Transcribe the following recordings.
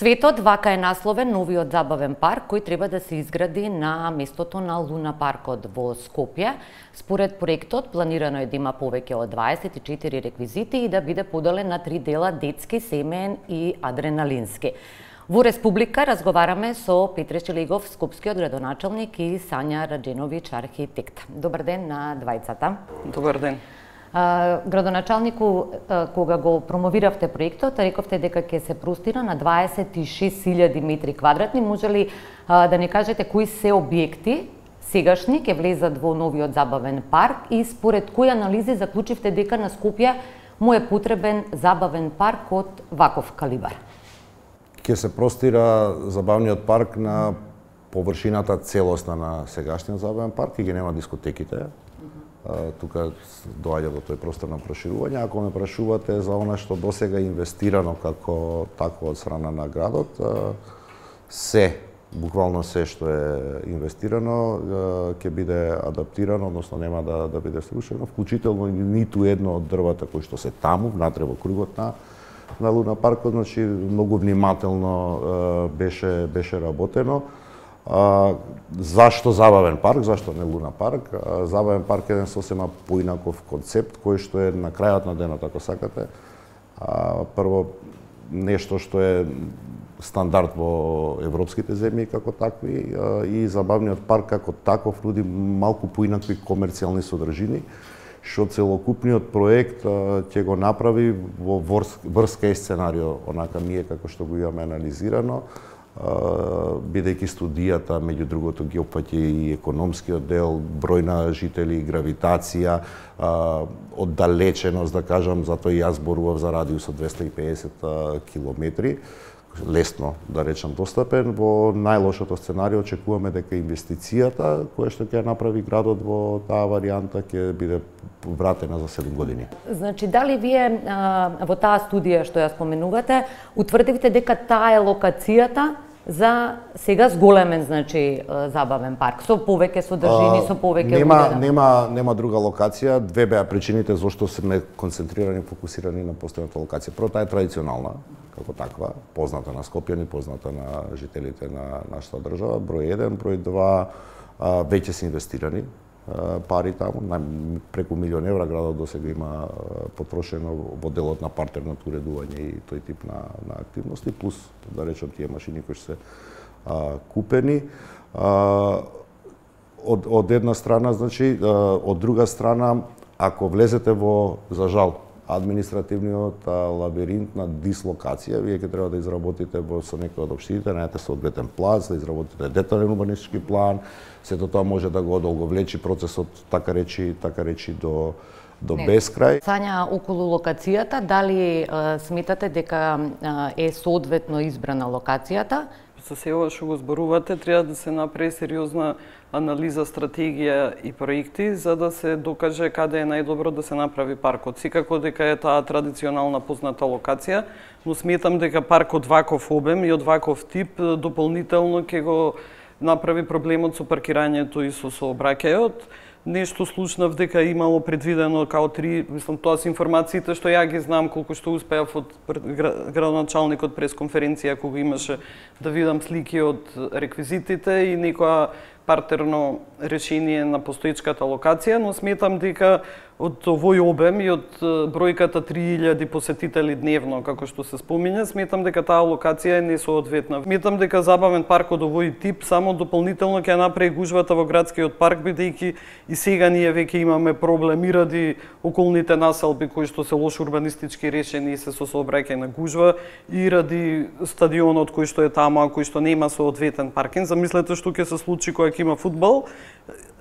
Светот вака е насловен новиот забавен парк кој треба да се изгради на местото на Луна паркот во Скопје. Според проектот планирано е да има повеќе од 24 реквизити и да биде поделен на 3 дела: детски, семеен и адреналински. Во Республика разговараме со Петре Шелегов, скопскиот градоначалник, и Сања Радженовиќ, архитект. Добар ден на двајцата. Добар ден. Градоначалнику, кога го промовиравте проектот, рековте дека ќе се простира на 26.000 метри квадратни. Може ли да ни кажете кои се објекти сегашни ќе влезат во новиот забавен парк и според кои анализи заклучивте дека на Скопје му е потребен забавен парк од ваков калибар? Ќе се простира забавниот парк на површината целосна на сегашниот забавен парк и ги нема дискотеките. Тука доаѓа до тој простор на проширување. Ако ме прашувате за она што досега е инвестирано како такво од страна на градот, буквално се што е инвестирано ќе биде адаптирано, односно нема да биде срушено, вклучително ниту едно од дрвата кои што се таму внатре во кругот на Луна паркот, значи многу внимателно беше работено. Зашто забавен парк, зашто не Луна парк? Забавен парк е еден сосема поинаков концепт кој што е на крајот на денот, ако сакате. Прво, нешто што е стандард во европските земји како такви, и забавниот парк како таков нуди малку поинакви комерцијални содржини, што целокупниот проект ќе го направи во врска и сценарио, онака ние како што го имаме анализирано, бидејќи студијата, меѓу другото, ги опфаќа и економскиот дел, број на жители, гравитација, оддалеченост, да кажам, затоа и јас зборував за радиус од 250 километри, лесно, да речам, достапен. Во најлошото сценарио очекуваме дека инвестицијата која што ќе направи градот во таа варијанта ќе биде вратена за 7 години. Значи, дали вие во таа студија што ја споменувате, утврдивте дека таа е локацијата за сега зголемен, значи, забавен парк, со повеќе содржини, со повеќе нема друга локација. Две беа причините зашто сме концентрирани, фокусирани на постојната локација. Прво, таа е традиционална, како таква, позната на скопјани, позната на жителите на нашата држава, број 1, број 2, веќе се инвестирани пари таму, преку €1.000.000 градот досега има потрошено во делот на партерното уредување и тој тип на активности, плюс, да речем, тие машини кои се купени. Од една страна, значи, од друга страна, ако влезете во, за жал, административниот лабиринт на дислокација, вие ќе треба да изработите со некој од општините, најдете соодветен плац, да изработите детален урбанистички план. Сето тоа може да го одолговлечи процесот, така речи до бескрај. Сања, околу локацијата, дали сметате дека е соодветно избрана локацијата? За се ова што го зборувате, треба да се направи сериозна анализа, стратегија и проекти за да се докаже каде е најдобро да се направи паркот. Секако дека е таа традиционална позната локација, но сметам дека парк од ваков обем и од ваков тип дополнително ќе го направи проблемот со паркирањето и со сообраќајот. Нешто слушнав дека имало предвидено као 3, мислам, тоа се информациите што ја ги знам, колку што успеав од градоначалникот пресконференција кога имаше да видам слики од реквизитите и некоја партерно решение на постоечката локација, но сметам дека од овој обем и од бројката 3000 посетители дневно, како што се спомиња, сметам дека таа локација е несоодветна. Сметам дека забавен парк од овој тип само дополнително ќе направи гужвата во градскиот парк, бидејќи и сега ние веќе имаме проблеми ради околните населби кои што се лошо урбанистички решени и се со сообраќајна гужва, и ради стадионот кој што е таму, а кој што нема соодветен паркинг. Замислете што ќе се случи кога ќе има фудбал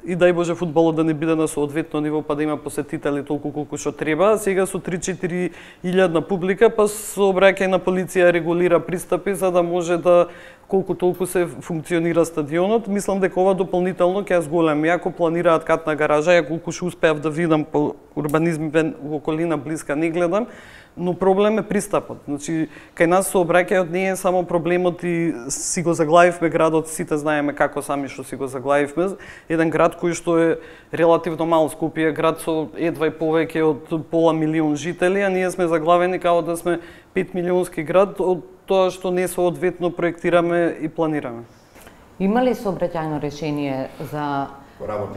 и дај Боже фудбалот да не биде на соодветно ниво, па да има посетители толку колку што треба. Сега со 3-4 илјадна публика, па сообраќајна полиција регулира пристапи за да може да колку толку се функционира стадионот. Мислам дека ова дополнително ќе зголеми. Ако планираат катна гаража, ја колку што успеав да видам по урбанизмот во околина блиска не гледам, но проблем е пристапот. Значи, кај нас сообраќајот не е само проблемот и си го заглавивме градот, сите знаеме како сами што си го заглавивме. Еден град кој што е релативно мал, Скопје, град со едва и повеќе од пола милион жители, а ние сме заглавени како да сме 5 милионски град од тоа што не соодветно проектираме и планираме. Има ли сообраќајно решение за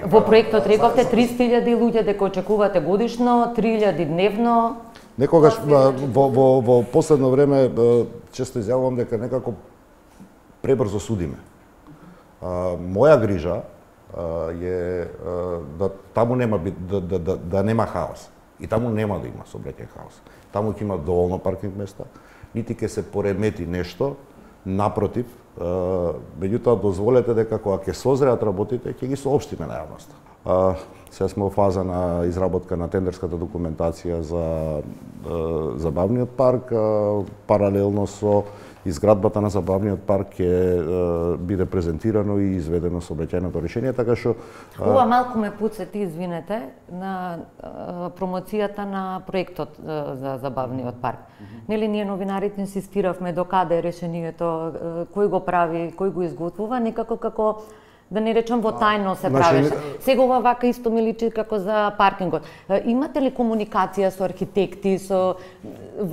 во проектот рековте 300.000 луѓе дека очекувате годишно, 3.000 дневно? Некогаш во последно време често изјавувам дека некако пребрзо судиме. Моја грижа е да таму нема да нема хаос. И таму нема да има сообраќајен хаос. Таму ќе има доволно паркинг места, нити ќе се поремети нешто, напротив, меѓутоа дозволете дека кога ќе созреат работите, ќе ги соопштиме на јавноста. Сега сме во фаза на изработка на тендерската документација за забавниот парк, паралелно со изградбата на забавниот парк ќе биде презентирано и изведено сообраќајното решение, така што ова малку ме потсети, извинете, на промоцијата на проектот за забавниот парк. Нели ние новинарите инсистиравме докаде е решението, кој го прави, кој го изготвува, некако како да не речам во тајно се правеше. Сега ова вака исто ми личи како за паркингот. Имате ли комуникација со архитекти, со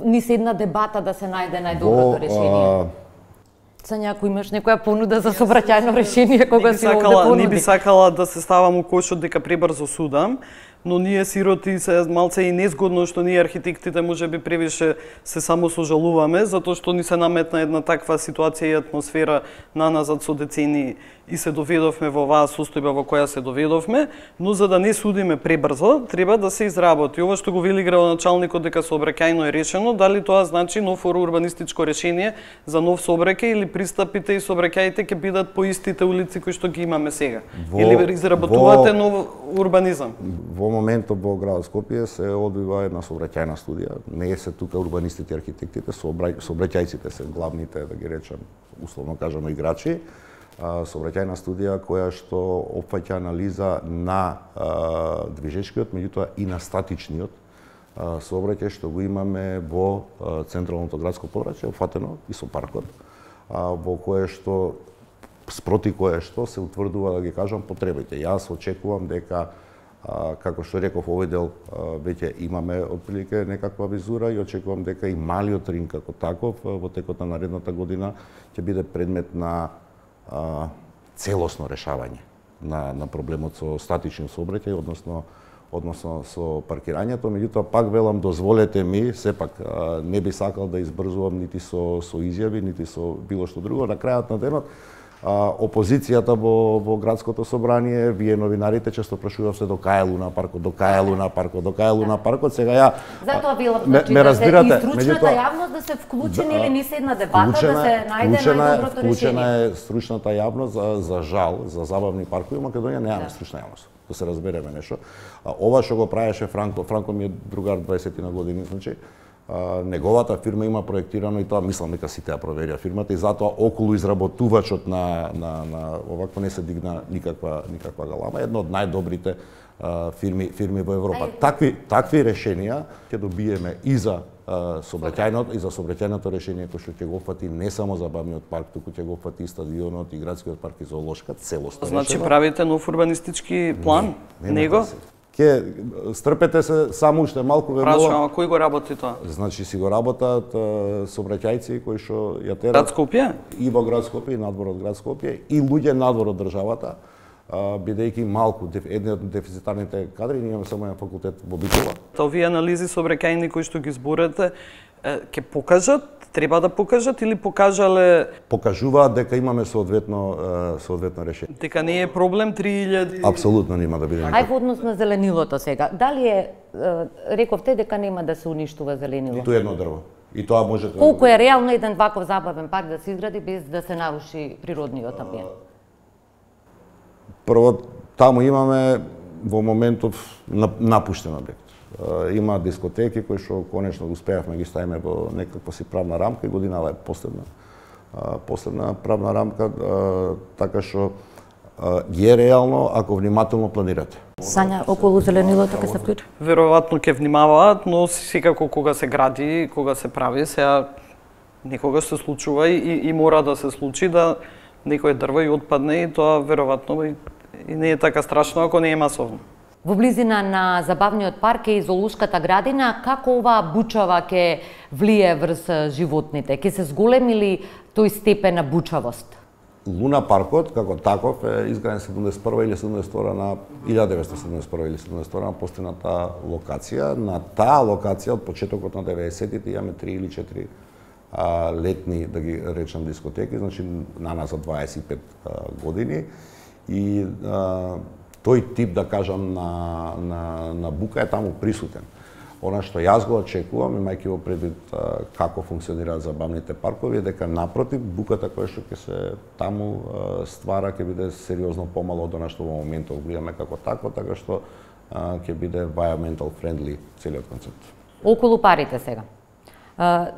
една дебата да се најде најдоброто решение? Сања, ако имаш некоја понуда за сообраќајно решение кога си овде понуди. Не би сакала да се ставам у кошот дека пребрзо судам, но ние сироти се малце и незгодно што ние архитектите можеби превише се само сожалуваме, затоа што ни се наметна една таква ситуација и атмосфера наназад со децени и се доведовме во оваа состојба во која се доведовме, но за да не судиме пребрзо, треба да се изработи. Ова што го вели градоначалникот дека сообраќајно е решено, дали тоа значи нов урбанистичко решение за нов сообраќај или пристапите и сообраќаите ќе бидат по истите улици кои што ги имаме сега? Или изработувате нов урбанизам? Во моментот во градот Скопје се одвива една сообраќајна студија. Не се тука урбанистите и архитектите, сообраќајците се главните, да ги речам, условно кажано, играчи. Сообраќајна студија која што опфаќа анализа на движечкиот, меѓутоа и на статичниот сообраќај што го имаме во централното градско подрачје, опфатено и со паркот, во кое што спроти кое што се утврдува, да ги кажам, потребите. Јас очекувам дека, како што реков, овој дел веќе имаме отприлike некаква визура и очекувам дека и малиот ринг како таков во текот на наредната година ќе биде предмет на целосно решавање на проблемот со статичен сообраќај, односно со паркирањето. Меѓутоа, пак велам, дозволете ми, сепак не би сакал да избрзувам нити со изјави, нити со било што друго. На крајот на денот, опозицијата во градското собрание, вие новинарите често прашувавте до кај е Луна паркот, до кај е Луна паркот, до кај е Луна паркот. Сега ја затоа велам, значи, да се и стручната јавност да се вклучени или не се една дебата да се најде најдоброто решение. Вклучена е стручната јавност, за жал, за забавни паркови во Македонија немаме стручна јавност. Да се разбереме нешто. Ова што го правеше Франко ми е другар 20 на години, значи неговата фирма има проектирано и тоа мислам дека сите ја проверија фирмата и затоа околу изработувачот на овакво не се дигна никаква галама, една од најдобрите фирми во Европа. Такви решенија ќе добиеме и за сообраќајното решение кој што ќе го опфати не само забавниот парк, туку ќе го опфати и стадионот, и градскиот парк и зоолошка, целосно. Значи правите нов урбанистички план? Него? Ке стрпете се само уште малку верувам. Прашувам, кој го работи тоа? Значи си го работат сообраќајци кои што ја терат. Град Скопје? И во град Скопје, и надвор од град Скопје, и луѓе надвор од државата, бидејќи малку едни од дефицитарните кадри, ние имаме само еден факултет во Битола. Овие анализи сообраќајни кои што ги зборете, ќе покажат, треба да покажат или покажале? Покажуваат дека имаме соодветно решение. Дека не е проблем 3000? Апсолутно нема да биде. Ај во однос на зеленилото сега. Дали рековте дека нема да се уништува зеленило? Ниту едно дрво. И тоа може да... Колку е реално еден ваков забавен парк да се изгради без да се наруши природниот амбиент? Прво, таму имаме во моментов напуштен објект. Има дискотеки кои што конечно успеавме ги ставиме во некаква си правна рамка и годинава е последна правна рамка, така што ги е реално ако внимателно планирате. Сања, околу зеленилото ќе се вклучи? Веројатно ќе внимаваат, но секако кога се гради, кога се прави, сега некогаш се случува и мора да се случи да некој дрво и отпадне и тоа веројатно и не е така страшно ако не е масовно. Во близина на забавниот парк е и зоолошката градина. Како оваа бучава ќе влие врз животните? Ќе се зголеми ли тој степен на бучавост? Луна паркот како таков е изграден 71 или 72 на 1971 или 72 на постојната локација. На таа локација од почетокот на 90-тите имаме 3 или 4 летни, да ги речам, дискотеки, значи на нас за 25 години и тој тип, да кажам, на бука е таму присутен. Она што јас го очекувам, имајќи во предвид како функционираат забавните паркови, е дека напротив, буката која што ќе се таму ствара ќе биде сериозно помало од она што во моментот гледаме како такво, така што ќе биде environmental friendly целиот концепт. Околу парите сега.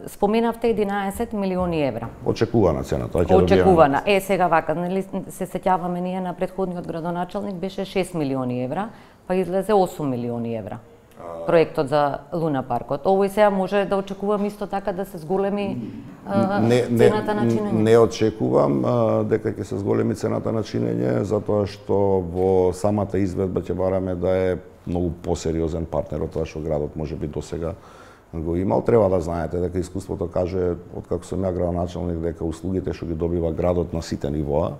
Споменавте 11 милиони евра. Очекувана цената. Очекувана. Сега вака, нели се сеќаваме ние на претходниот градоначалник беше 6 милиони евра, па излезе 8 милиони евра. Проектот за Луна паркот. Овој сега може да очекувам исто така да се зголеми цената на чинење? Не очекувам дека ќе се зголеми цената на чинење, затоа што во самата изведба ќе бараме да е многу посериозен партнер од тоа што градот можеби досега го имал. Треба да знаете дека искуството каже, откако сум ја градоначалник, дека услугите што ги добива градот на сите нивоа,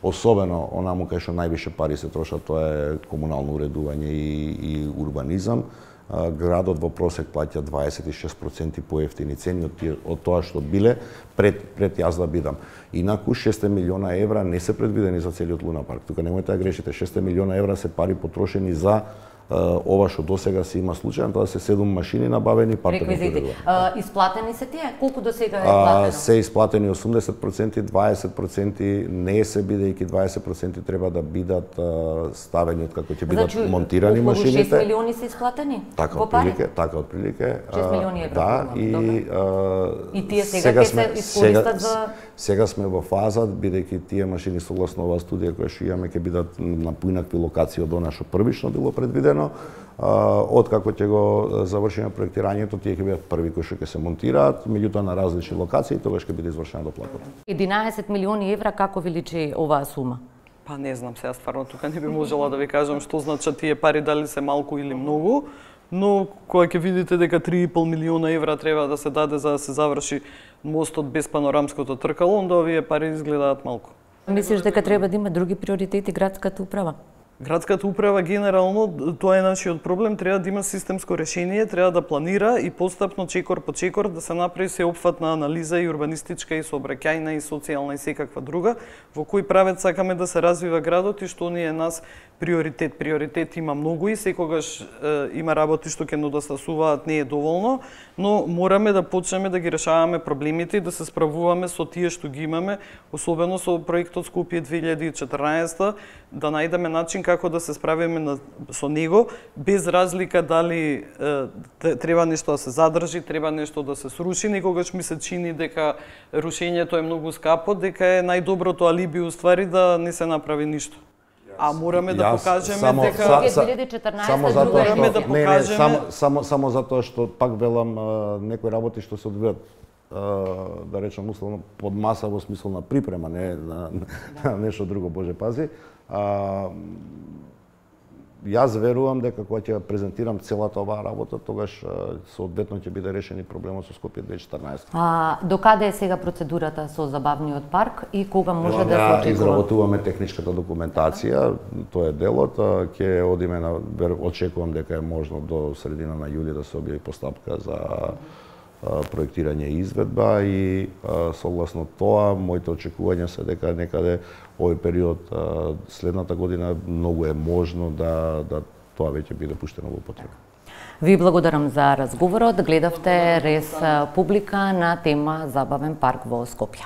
особено онаму кај што највише пари се трошат, тоа е комунално уредување и урбанизам. Градот во просек плаќа 26% поевтини цени од тоа што биле пред јас да бидам. Инаку 6 милиона евра не се предвидени за целиот Луна парк. Тука немојте да грешите, 6 милиона евра се пари потрошени за ова што досега се има случај, тоа се 7 машини набавени, реквизити. Исплатени се тие? Колку досега е платено? Се исплатени 80%, 20% не се, бидејќи 20% треба да бидат ставени откако ќе бидат монтирани машините. Значи, 6 милиони се исплатени? Така отприлike. 6 милиони евра. Да, и тие сега ќе се искористат за... Сега сме во фаза, бидејќи тие машини согласно оваа студија која што имаме ќе бидат на поинакви локации од она што првично било предвидено. Откако ќе го завршиме проектирањето, тие ќе бидат први кои што ќе се монтираат, меѓутоа на различни локации, тогаш ќе биде извршена доплатата. 11 милиони евра, како ви личи оваа сума? Па не знам, сега стварно тука не би можела да ви кажам што значат тие пари, дали се малку или многу, но кога ќе видите дека 3,5 милиона евра треба да се даде за да се заврши мостот без панорамското тркало, онда овие пари изгледаат малку. Мислиш дека треба да има други приоритети градската управа? Градската управа генерално, тоа е нашиот проблем, треба да има системско решение, треба да планира и постапно чекор по чекор да се направи сеопфатна анализа и урбанистичка и сообраќајна и социјална и секаква друга, во кој правец сакаме да се развива градот и што ни е нас приоритет. Приоритет има многу и секогаш има работи што ќе недостасуваат, не е доволно, но мораме да почнеме да ги решаваме проблемите и да се справуваме со тие што ги имаме, особено со проектот Скопје 2014, да најдеме начин како да се справиме со него, без разлика дали треба нешто да се задржи, треба нешто да се сруши, некогаш ми се чини дека рушењето е многу скапо, дека е најдоброто алиби уствари да не се направи ништо. А мораме да покажеме дека 2014 само затоа што пак велам некои работи што се одвијат да речам условно под маса во смисла на припрема, не на нешто друго, Боже пази. Јас верувам дека кога ќе презентирам целата оваа работа, тогаш соодветно ќе биде решен и проблемот со Скопје 2014. До каде е сега процедурата со забавниот парк и кога може да се очекува? Изработуваме техничката документација, тоа е делот, ќе одиме на очекувам дека е можно до средина на јули да се објави постапка за проектирање и изведба и согласно тоа моите очекувања се дека некаде овој период следната година многу е можно да тоа веќе биде пуштено во употреба. Ви благодарам за разговорот. Гледавте Рез Публика на тема Забавен парк во Скопје.